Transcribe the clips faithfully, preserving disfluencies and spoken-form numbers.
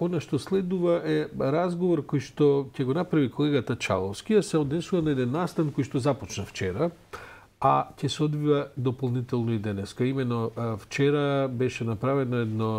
Она што следува е разговор кој што ќе го направи колегата Чаловски, а се однесува на еден настан кој што започна вчера, а ќе се одвива дополнително и денеска. Имено вчера беше направено едно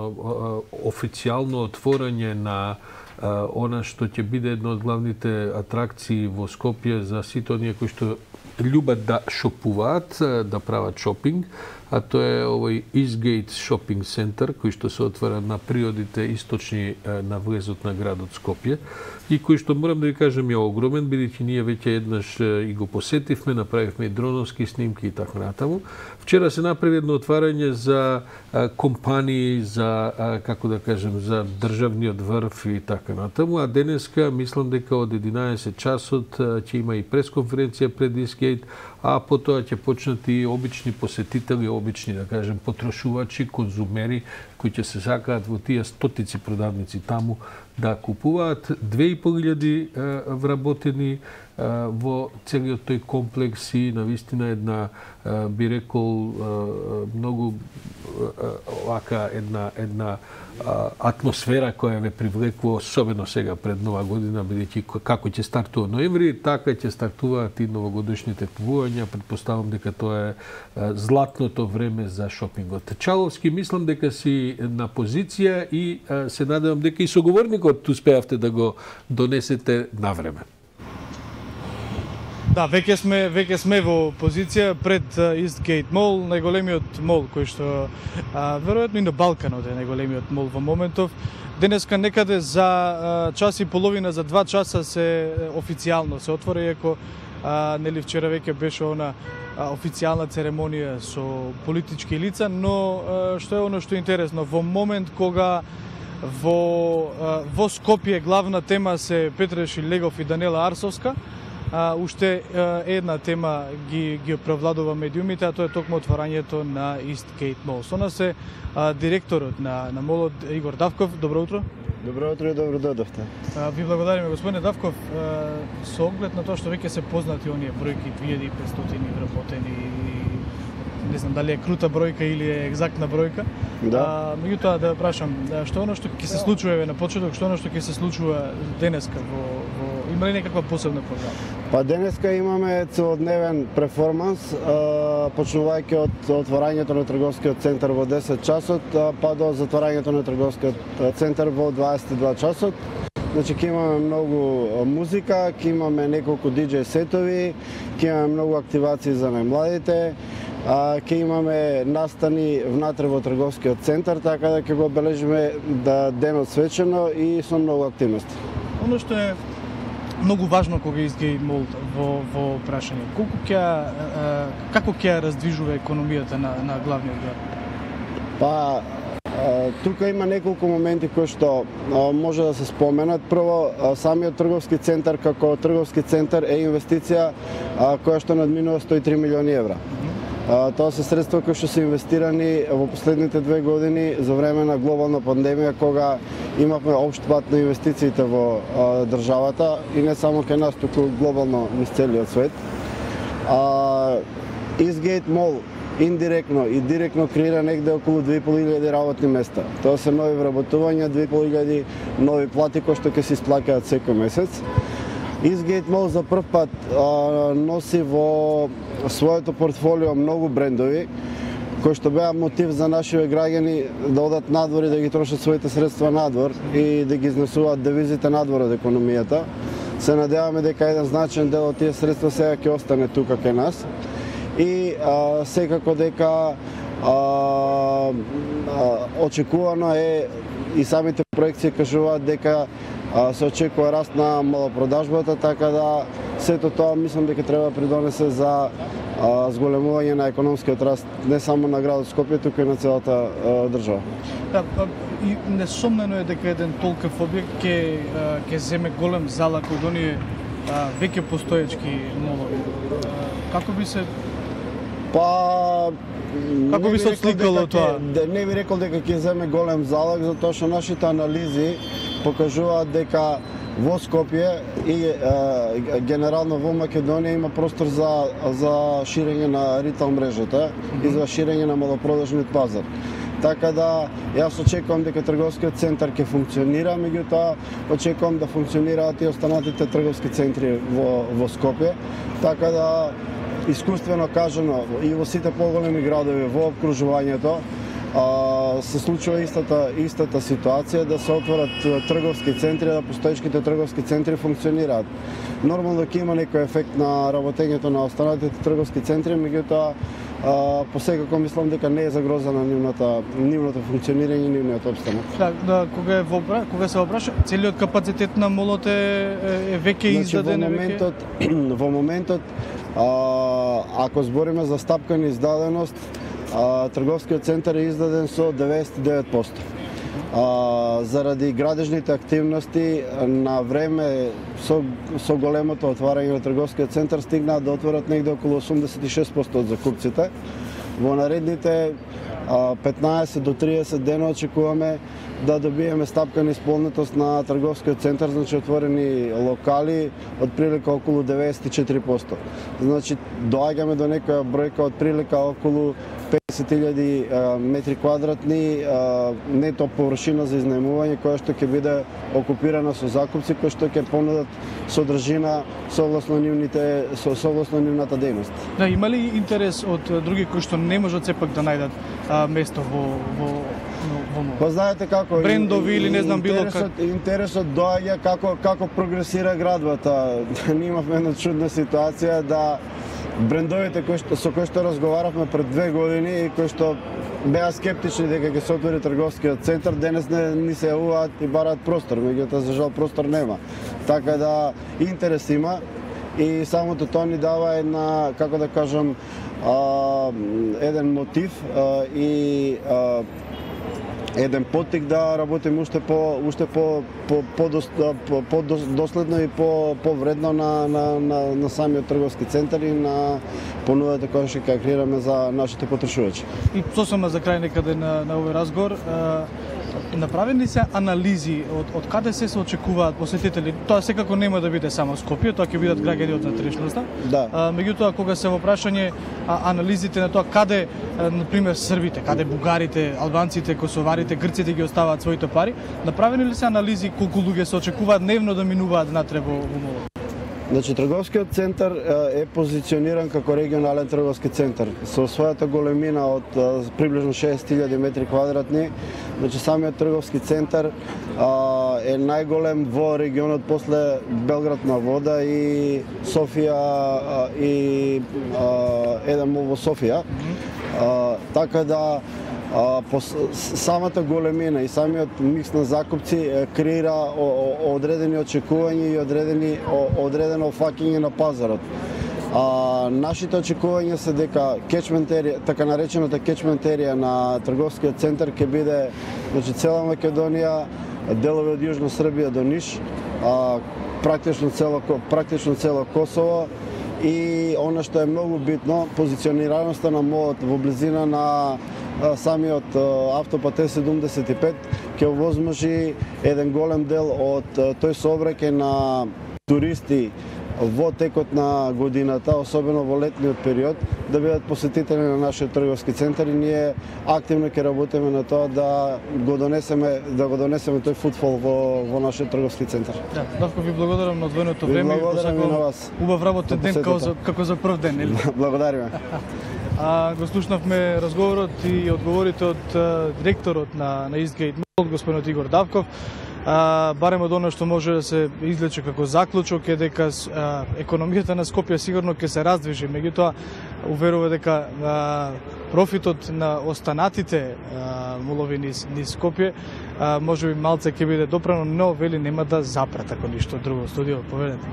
официјално отворање на она што ќе биде една од главните атракции во Скопје за сите оние кои што љубат да шопуваат, да прават шопинг, а тоа е овој Eastgate Shopping Center, кој што се отвара на приодите источни на влезот на градот Скопје и кој што, морам да ви кажам, е огромен, бидејќи ние веќе еднаш и го посетивме, направивме и дроновски снимки и така натаму. Вчера се направи едно отварање за компании, за, како да кажем, за државниот врв и така натаму, а денеска, мислам дека од единаесет часот ќе има и пресконференција пред Eastgate, а потоа ќе почнат и обични посетители, обични, да кажем, потрошувачи, конзумери, кои ќе се сакаат во тие стотици продавници таму да купуваат. две и пол илјади вработени во целиот тој комплекс и навистина една, би рекол, многу вака една една атмосфера која ве привлекува, особено сега пред Нова година, бидејќи како ќе стартува ноември, така ќе стартуваат и новогодишните купувања. Претпоставам дека тоа е златното време за шопингот. Чаловски, мислам дека си на позиција и се надевам дека и соговорникот успеавте да го донесете навреме. Да, веќе сме веќе сме во позиција пред Eastgate Mall, најголемиот мол кој што а, веројатно и на Балканот е најголемиот мол во моментов. Денеска некаде за а, час и половина, за два часа се официјално се отвори, иако а, нели вчера веќе беше она а, официјална церемонија со политички лица, но а, што е оно што е интересно, во момент кога во а, во Скопје главна тема се Петра Шилегов и Даниела Арсовска, А, уште а, една тема ги, ги превладува медиумите, а тоа е токму отварањето на Eastgate Mall. Со нас е а, директорот на, на молот Игор Давков. Добро утро. Добро утро и добро дојдовте. Ви благодариме, господине Давков. А, со оглед на тоа што веќе се познати оние бројки две илјади и петстотини вработени, не знам дали е крута бројка или е екзактна бројка. Да. А, меѓутоа да прашам, што е оно што ќе се случува еве на почеток, што е оно што ќе се случува денеска во, во има ли некаква посебна програма? Па денеска имаме целодневен перформанс, почнувајќи од отворањето на трговскиот центар во десет часот, па до затворањето на трговскиот центар во дваесет и два часот. Значи, ќе имаме многу музика, ќе имаме неколку диџеј сетови, ќе имаме многу активации за најмладите, ќе имаме настани внатре во трговскиот центар, така да ќе го обележиме да денот свечено и со многу активности. Оно што е многу важно кога Eastgate Mall во во прашање, колку ќе како ќе раздвижува економијата на на главниот град? Па тука има неколку моменти кои што може да се споменат. Прво, самиот трговски центар како трговски центар е инвестиција која што надминува сто и три милиони евра. Тоа се средства кои што се инвестирани во последните две години за време на глобална пандемија, кога имавме општ пат на инвестициите во а, државата и не само кај нас, туку глобално низ целиот свет. А, Eastgate Mall индиректно и директно креира негде околу две и пол илјади работни места. Тоа се нови вработувања, две и пол илјади нови плати кои што ќе се исплаќаат секој месец. Eastgate Mall за прв пат а, носи во своето портфолио многу брендови, кои што беа мотив за нашите граѓани да одат надвор и да ги трошат своите средства надвор и да ги изнесуваат девизите надвор од економијата. Се надеваме дека еден значаен дел од тие средства сега ќе остане тука кај нас. И а, секако дека а, а, очекувано е и самите проекции кажуваат дека а, се очекува раст на малопродажбата, така да сето тоа мислам дека треба да придонесе за а, зголемување на економскиот раст не само на градот Скопје, туку и на целата а, држава. Да, и несомнено е дека еден толков објект ќе ќе земе голем залак од оние веќе постоечки молови. Како би се Па како би се отсликало тоа? Не би рекол дека ќе земе голем залог, затоа што нашите анализи покажуваат дека во Скопје и е, генерално во Македонија има простор за за ширење на ритейл мрежата и за ширење на малопродажниот пазар. Така да јас очекувам дека трговскиот центар ќе функционира, меѓутоа очекувам да функционираат и останатите трговски центри во во Скопје. Така да искуствено кажано и во сите поголеми градови во обкружувањето а, се случува истата истата ситуација да се отворат трговски центри, да постоечките трговски центри функционираат. Нормално ќе има некој ефект на работењето на останатите трговски центри, меѓутоа посекако мислам дека не е загрозена нивната нивното функционирање и нивниот опстанок. Да, да, кога е во кога се опраша, целиот капацитет на молот е, е веќе издаден, значи, во моментот веќе... во моментот а, ако збориме за стапкана издаденост, а, трговскиот центар е издаден со деветдесет и девет проценти. А, заради градежните активности на време со, со големото отварање на трговскиот центар стигнаа да отворат негде околу осумдесет и шест проценти од закупците. Во наредните а, петнаесет до триесет дена очекуваме да добиеме стапкана исполнетост на трговскиот центар, значи отворени локали од прилика околу деветдесет и четири проценти. Значи доаѓаме до некоја бројка од прилика околу петдесет илјади метри квадратни нето површина за изнаемување, која што ќе биде окупирана со закупци кои што ќе понудат содржина согласно нивните согласно нивната дејност. Да, има ли интерес од други кои што не можат сепак да најдат а, место во во во во Па знаете како брендови или не знам било как как интересот доаѓа како како прогресира градбата. Ние имавме една чудна ситуација да брендовите кои што со кои што разговаравме пред две години и кои што беа скептични дека ќе се отвори трговскиот центар, денес не ни се јавуваат и бараат простор, меѓутоа за жал простор нема. Така да интерес има и самото тоа ни дава една, како да кажам, а, еден мотив а, и а, еден поттик да работиме уште по уште по по по, по, по доследно и по повредно на на на на самиот трговски центар и на понудата која што ќе креираме за нашите потрошувачи. И сосема за крај некаде на на овој разговор, направени се анализи од од каде се се очекуваат посетители. Тоа секако нема да биде само Скопје, тоа ќе бидат граѓани од натрешноста. Да. А, меѓутоа кога се во прашање а, анализите на тоа каде на пример србите, каде бугарите, албанците, косоварите, грците ги оставаат своите пари, направени ли се анализи колку луѓе се очекуваат дневно да минуваат натре во во молот? Значи, трговскиот центар е позициониран како регионален трговски центар. Со својата големина од приближно шест илјади метри квадратни, значи самиот трговски центар а, е најголем во регионот после Белград на вода и Софија а, и а, еден мол во Софија. А, така да А, по самата големина и самиот микс на закупци креира о, о, одредени очекувања и одредени о, одредено фаќање на пазарот. А, нашите очекувања се дека кетчмент-ерија, така наречената кетчмент-ерија на трговскиот центар ќе биде, значи, цела Македонија, делови од Јужна Србија до Ниш, а, практично цело практично цело Косово и она што е многу битно, позиционираноста на молот во близина на самиот автопат Е седумдесет и пет ќе овозможи еден голем дел од тој сообраќај на туристи во текот на годината, особено во летниот период, да бидат посетители на нашиот трговски центар и ние активно ќе работиме на тоа да го донесеме да го донесеме тој футфол во во нашиот трговски центар. Да, Давко, ви благодарам на одвоеното време и посакувам на вас. Убав работен ден како за како за прв ден, нели? Благодариме. А го слушнавме разговорот и одговорите од директорот на на Eastgate Mall, господинот Игор Давков. А, барем од оно што може да се извлече како заклучок е дека а, економијата на Скопје сигурно ќе се раздвижи, меѓутоа уверува дека а, профитот на останатите а, молови низ, низ Скопје а, можеби малце ќе биде допрано, но вели нема да запрат ако ништо друго. Студио, поведете.